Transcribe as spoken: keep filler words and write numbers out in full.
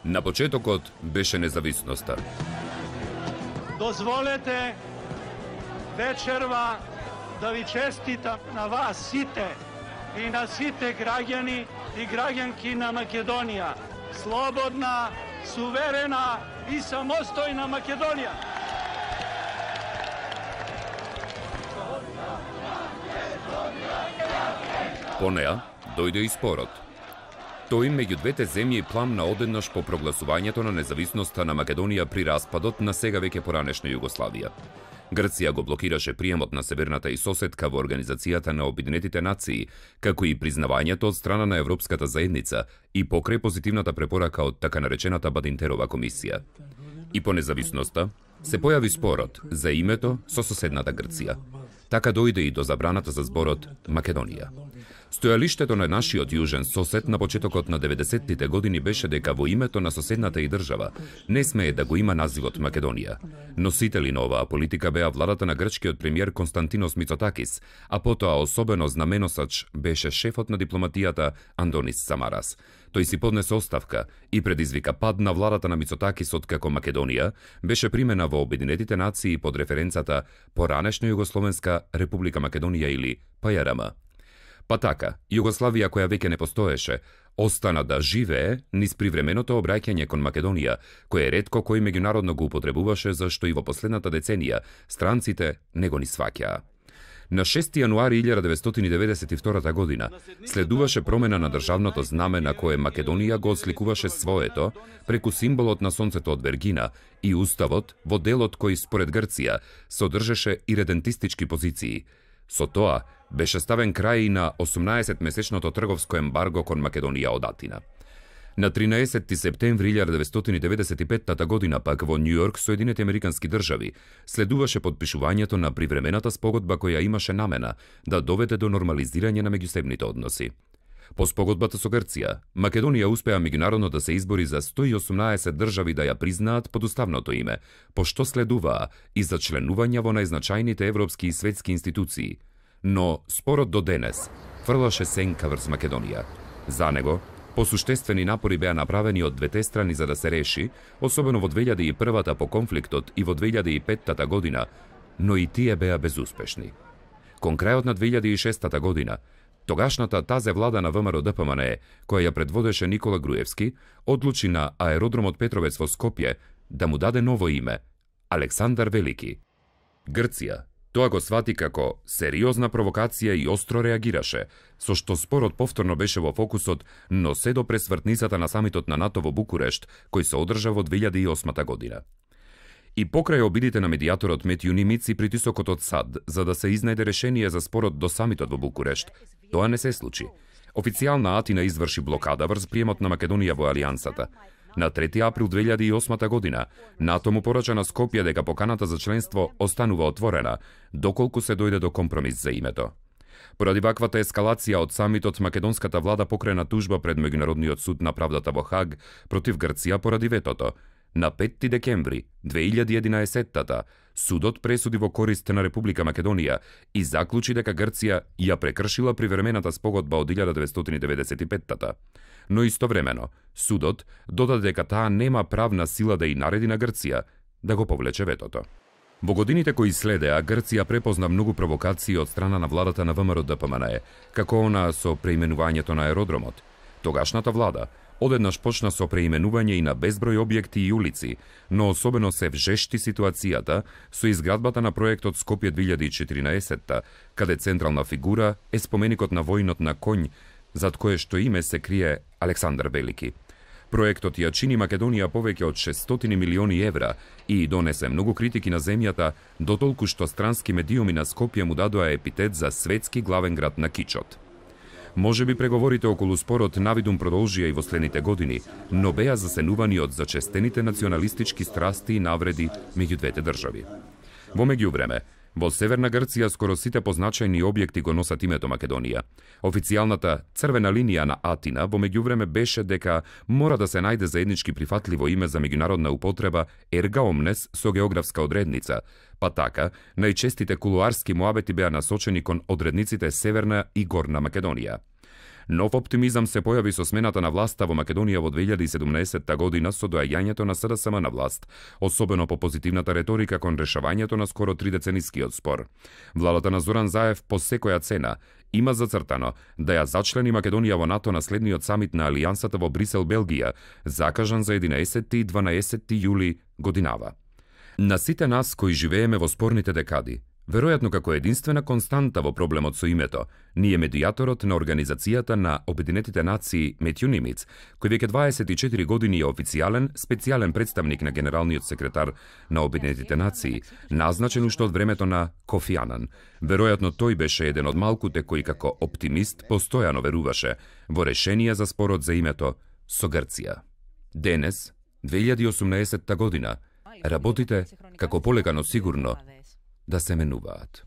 На почетокот беше независноста. Дозволете вечерва да ви честитам на вас сите и на сите граѓани и граѓанки на Македонија. Слободна, суверена и самостојна Македонија. По неа дојде и спорот. Тој меѓу двете земји пламна одеднаш по прогласувањето на независноста на Македонија при распадот на сега веќе поранешна Југославија. Грција го блокираше приемот на северната и соседка во Организацијата на Обединетите нации, како и признавањето од страна на Европската заедница и покрај позитивната препорака од така наречената Бадинтерова комисија. И по независноста се појави спорот за името со соседната Грција. Така дојде и до забраната за зборот Македонија. Стојалиштето на нашиот јужен сосед на почетокот на деветдесеттите години беше дека во името на соседната и држава не смее да го има називот Македонија. Носители на оваа политика беа владата на грчкиот премиер Константинос Мицотакис, а потоа особено знаменосач беше шефот на дипломатијата Андонис Самарас. Тој си поднесе оставка и предизвика пад на владата на Мицотакис откако Македонија беше примена во Обединетите нации под референцата Поранешна Југословенска Република Македонија или П Ј Р М. Па така, Југославија која веќе не постоеше, остана да живее низ привременото обраќање кон Македонија, кое ретко кој меѓународно го употребуваше, зашто и во последната деценија странците не го ни сваќаа. На шести јануари илјада деветстотини деветдесет и втора година следуваше промена на државното знаме на кое Македонија го осликуваше своето преку символот на сонцето од Вергина и уставот во делот кој според Грција содржеше иредентистички позиции. Со тоа беше ставен крај и на осумнаесетмесечното трговско ембарго кон Македонија од Атина. На тринаесетти септември илјада деветстотини деветдесет и петта година пак во Њујорк, Соединените Американски држави, следуваше подпишувањето на привремената спогодба која имаше намена да доведе до нормализирање на меѓусебните односи. По спогодбата со Грција, Македонија успеа меѓународно да се избори за сто и осумнаесет држави да ја признаат под уставното име, по што следуваа и за членување во најзначајните европски и светски институции. Но спорот до денес фрлаше сенка врз Македонија. За него, посуштествени напори беа направени од двете страни за да се реши, особено во две илјади и прва по конфликтот и во две илјади и петта година, но и тие беа безуспешни. Кон крајот на две илјади и шеста година, тогашната тазе влада на В М Р Д П М Н Е, која ја предводеше Никола Груевски, одлучи на аеродромот Петровец во Скопје да му даде ново име – Александар Велики. Грција тоа го свати како сериозна провокација и остро реагираше, со што спорот повторно беше во фокусот, но се до пресвртницата на самитот на НАТО во Букурешт, кој се одржа во две илјади и осма година. И покрај обидите на медијаторот Метју Нимиц и притисокот од САД за да се изнајде решение за спорот до самитот во Букурешт, тоа не се случи. Официјална Атина изврши блокада врз приемот на Македонија во Алијансата. На трети април две илјади и осма година, НАТО му порача на Скопје дека поканата за членство останува отворена, доколку се дојде до компромис за името. Поради ваквата ескалација од самитот, македонската влада покрена тужба пред Меѓународниот суд на правдата во Хаг против Грција поради ветото. На петти декември две илјади и единаесетта судот пресуди во корист на Република Македонија и заклучи дека Грција ја прекршила привремената спогодба од илјада деветстотини деветдесет и петта. Но истовремено, судот додаде дека таа нема правна сила да и нареди на Грција да го повлече ветото. Во годините кои следеа, Грција препозна многу провокации од страна на владата на В М Р Д П М Н Е, како она со преименувањето на аеродромот. Тогашната влада одеднаш почна со преименување и на безброј објекти и улици, но особено се вжешти ситуацијата со изградбата на проектот Скопје две илјади и четиринаесетта, каде централна фигура е споменикот на војнот на конј, зад кое што име се крие Александар Велики. Проектот ја чини Македонија повеќе од шестстотини милиони евра и донесе многу критики на земјата, дотолку што странски медиуми на Скопје му дадоа епитет за светски главен град на кичот. Може би преговорите околу спорот навидум продолжија и во следните години, но беа засенувани од зачестените националистички страсти и навреди меѓу двете држави. Во меѓувреме, во Северна Грција скоро сите позначајни објекти го носат името Македонија. Официјалната црвена линија на Атина во меѓувреме беше дека мора да се најде заеднички прифатливо име за меѓународна употреба ерга омнес со географска одредница, па така најчестите кулуарски муабети беа насочени кон одредниците Северна и Горна Македонија. Нов оптимизам се појави со смената на власта во Македонија во две илјади и седумнаесетта година со доаѓањето на СДСМ на власт, особено по позитивната реторика кон решавањето на скоро тридеценискиот спор. Владата на Зоран Заев по секоја цена има зацртано да ја зачлени Македонија во НАТО на следниот самит на Алијансата во Брисел, Белгија, закажан за единаесетти и дванаесетти јули годинава. На сите нас кои живееме во спорните декади, веројатно како единствена константа во проблемот со името, ние медијаторот на Организацијата на Обединетите нации Метју Нимиц, кој веќе дваесет и четири години е официјален, специјален представник на генералниот секретар на Обединетите нации, назначен уште од времето на Кофи Анан. Веројатно тој беше еден од малкуте кои како оптимист постојано веруваше во решение за спорот за името со Грција. Денес, две илјади и осумнаесетта година, работите како полека но сигурно да се менуваат.